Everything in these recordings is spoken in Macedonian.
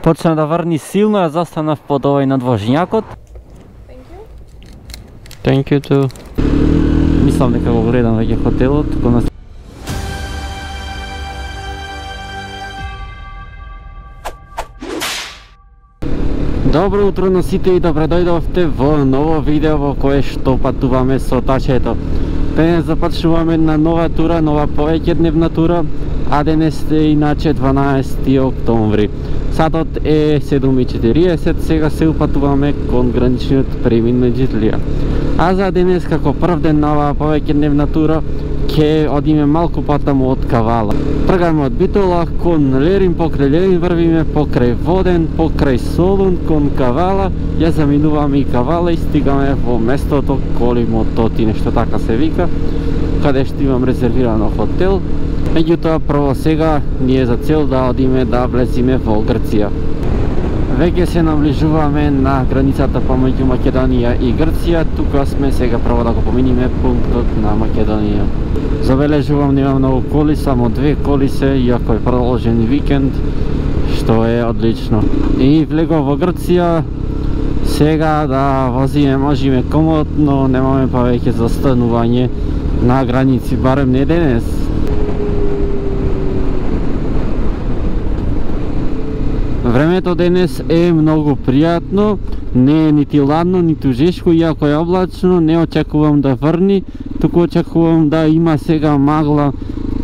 Почна да врни силно, ја застанав под овој надвожњакот. Thank you too. Мислам дека го гледам веќе хотелот, кога Добро утро на сите и добре дојдовте во ново видео во кое што патуваме со тачето. Денес започнуваме на нова тура, нова повеќедневна тура, а денес е иначе 12 октомври. Сатот е 7:40, сега се упатуваме кон граничниот премин меѓу Итлија. А за денес како прв ден на оваа повеќедневна тура ќе одиме малку потаму од Кавала. Тргаме од Битола кон Лерин, покрај Лерин врвиме, покрај Воден, покрај Солун, кон Кавала, ја заминуваме и Кавала и стигаме во местото Колимототи, нешто така се вика, каде што имам резервирано хотел. Меѓутоа, прво сега ни е за цел да одиме да влезиме во Грција. Веќе се наближуваме на границата помеѓу Македонија и Грција. Тука сме сега прво да го поминиме пунктот на Македонија. Забележувам, нема многу коли, само 2 коли се, иако е продолжен викенд, што е одлично. И влегов во Грција, сега да возиме можеме комодно, немаме повеќе застанување на граници, барем не денес. Времето денес е многу пријатно, не е нити ладно, ниту жешко, иако е облачно, не очекувам да врни, туку очекувам да има сега магла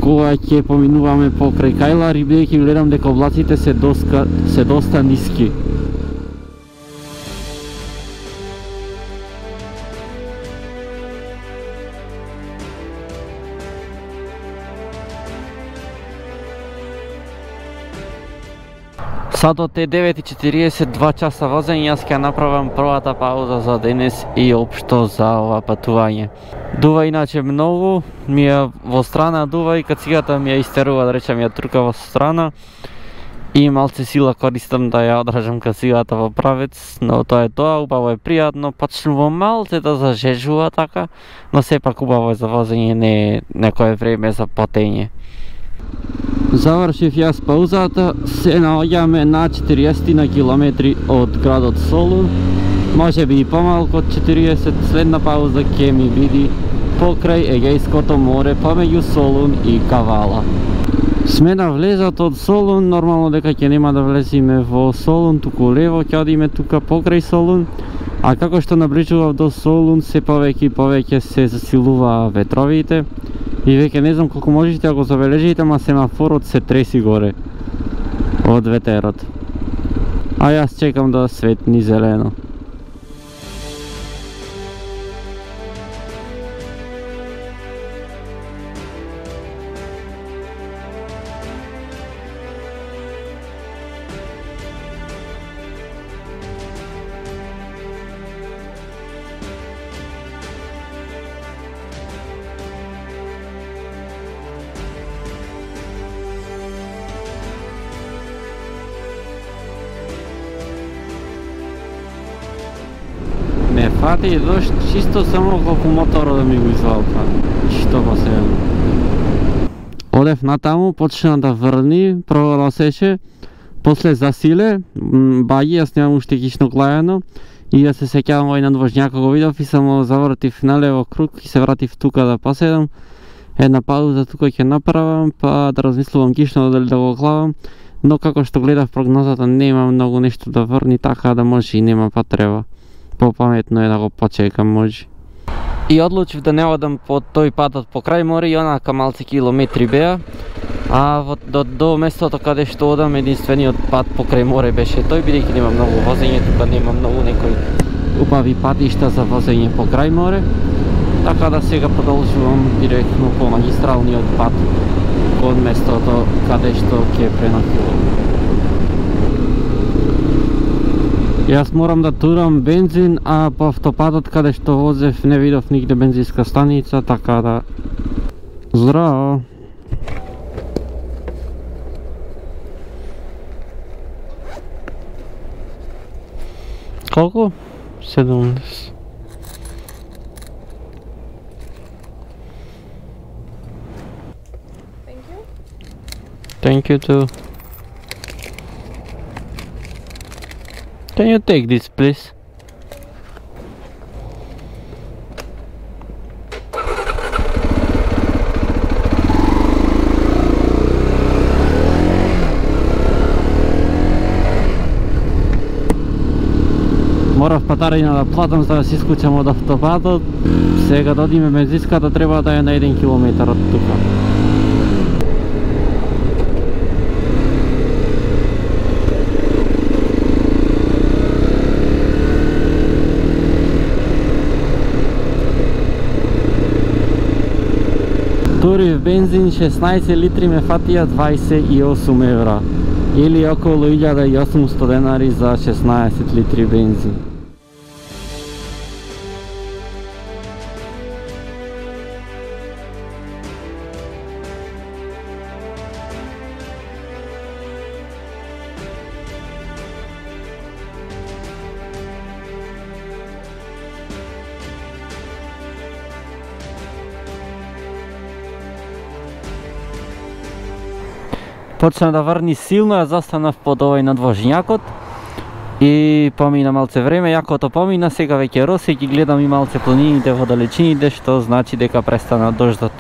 кога ќе поминуваме покрај Кајлари, бидејќи гледам дека облаците се доста ниски. Сатот е 9:40, 2 часа возење, јас ќе направам првата пауза за денес и општо за ова патување. Дува иначе многу, ми е во страна дува и кацигата ми ја истерува, да речем, ја турка во страна и малце сила користам да ја одржам кацигата во правец, но тоа е тоа, убаво е пријатно, почнува малце да зажежува така, но сепак убаво е за возење, не е некое време за потење. Завршив јас паузата, се наоѓаме на 40 на километри од градот Солун, може би и помалку од 40, следна пауза ќе ми биде покрај Егејското море, помеѓу Солун и Кавала. Сме на влезат од Солун, нормално дека ќе нема да влезиме во Солун, туку лево ќе одиме тука покрај Солун, а како што наближував до Солун, се повеќе и повеќе се засилува ветровите, и веќе не знам колку можете да го забележите, ама семафорот се треси горе од ветерот. А јас чекам да светни зелено. Ме фати дошт чисто само колку моторот да ми го извалка. Што посебно. Одев натаму, почна да врни, прво носеше, после засиле, баги, јас немам уште кишно глајано, и ја се сеќавам овој надвожњак, го видов и само завртив налево круг и се вратив тука да поседам. Една пауза тука ќе направам, па да размислувам кишно дали да го главам, но како што гледав прогнозата нема многу нешто да врни, така да може и нема потреба. Попаметно е да го почекам, може. И одлучив да не одам по тој патот покрај море и онака малце километри беа, а до местото каде што одам единствениот пат покрај море беше тој, бидејќи нема многу возење, тука нема многу некои убави патишта за возење покрај море, така да сега продолжувам директно по магистралниот пат кон местото каде што ќе пренокувам. Јас морам да турам бензин, а по автопатот каде што возев не видов нигде бензинска станица, така да... Здраво! Колку? 70. Thank you too. Can you take this, please? Морав патарина да платам за да се исклучам од автопатот. Сега да одиме бензинската треба да е на 1 километар од тука. Турив бензин 16 литри ме фатија 28 евра или околу 1800 денари за 16 литри бензин. Почна да врни силно, ја застанав под овој надвожњакот и помина малце време, јакото помина, сега веќе роси, ги гледам и малце планините во далечините, што значи дека престана дождот.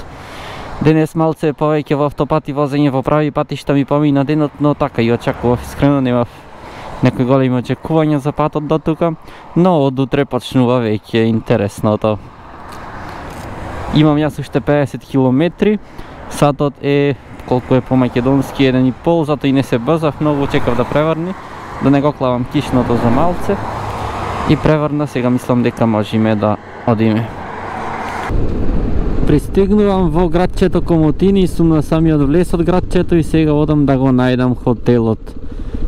Денес малце повеќе во автопати возење во прави патишта ми помина денот, но така и очекував, искрено немав некои големи очекувања за патот до тука, но од утре почнува веќе интересното. Имам јас уште 50 километри, сатот е колку е по македонски 1,5, зато и не се брзав многу, чекав да преврни, да не го клавам кишното за малце и преврна, сега мислам дека можеме да одиме. Пристигнувам во градчето Комотини, сум на самиот влез од градчето и сега одам да го најдам хотелот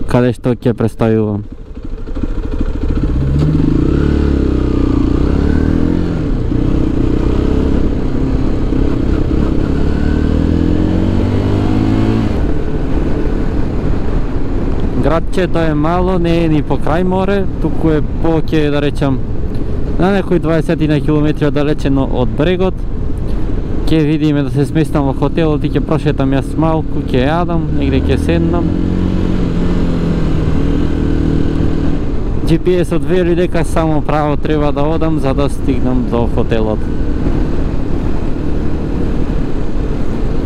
каде што ќе престојувам. Градчето е мало, не е ни по крај море, туку е повеќе, да речам, на некои 20 на километри оддалечено од брегот. Ќе видиме да се сместам во хотелот и ќе прошетам јас малку, ќе јадам, негде ќе седнам. GPS-от вели дека само право треба да одам за да стигнам до хотелот.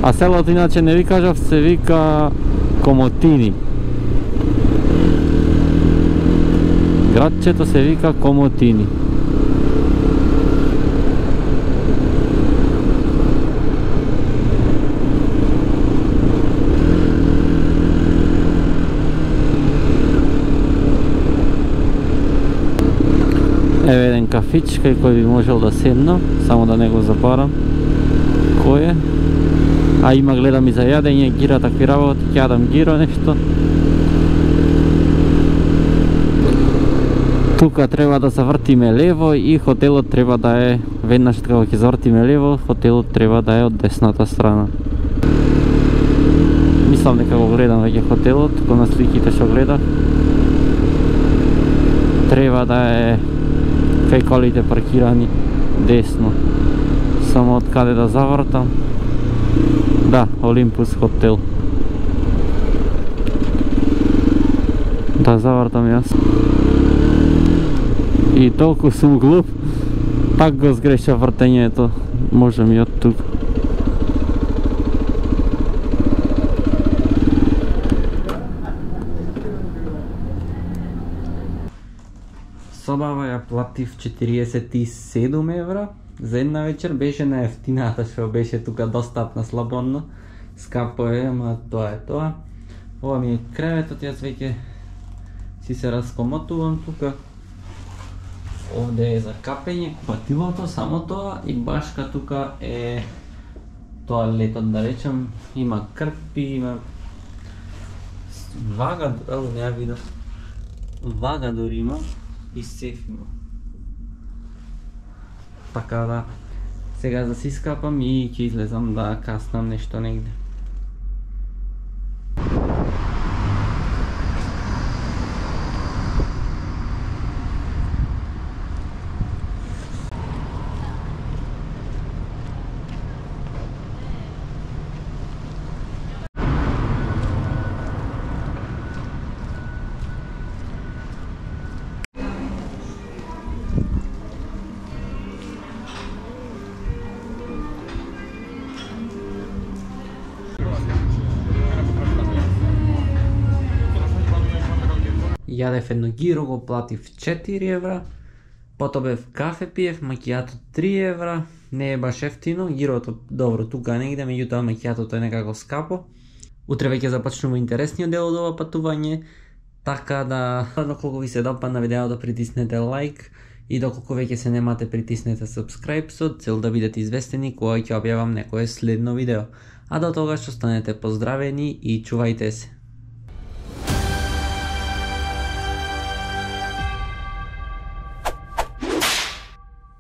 А селото иначе не ви кажав, се вика Комотини. Градчето се вика Комотини. Еве еден кафич кај кој би можел да седнам, само да не го забарам кој е. А има, гледам и за јадење, гира такви работи, ќе јадам гиро нешто. Тука треба да завртиме лево и хотелот треба да е, веднаш кога ќе завртиме лево, хотелот треба да е од десната страна. Мислам дека го гледам веќе хотелот, кога на сликите што гледав. Треба да е кај колите паркирани десно. Само од каде да завртам. Да, Олимпус хотел. Да завртам јас. И толку сум глуп, пак го сгреша вртењето. Можем и од тук. Собава ја платив 47 евра за една вечер, беше најефтината што беше тука, достапна слободно. Скапо е, ама тоа е тоа. Ова ми е креветот, јас веќе си се раскомотувам тука. Овде е за капење, купатилото, само тоа, и башка тука е тоалетот, да речем. Има крпи, има вага, не ја видов. Вага дори има и сеф има. Така да, сега да си скапам и ќе излезам да каснам нешто негде. јадев едно гиро, го платив 4 евра, потобев кафе пиев, макијато 3 евра, не е баш ефтино, гирото добро тука негде, меѓутоа макијатото е некако скапо. Утре веќе започнува интересниот дел од ова патување, така да доколку ви се допадна видеото притиснете лайк и доколку веќе се немате притиснете subscribe со цел да бидете известени кога ќе објавам некое следно видео. А до тогаш останете поздравени и чувајте се.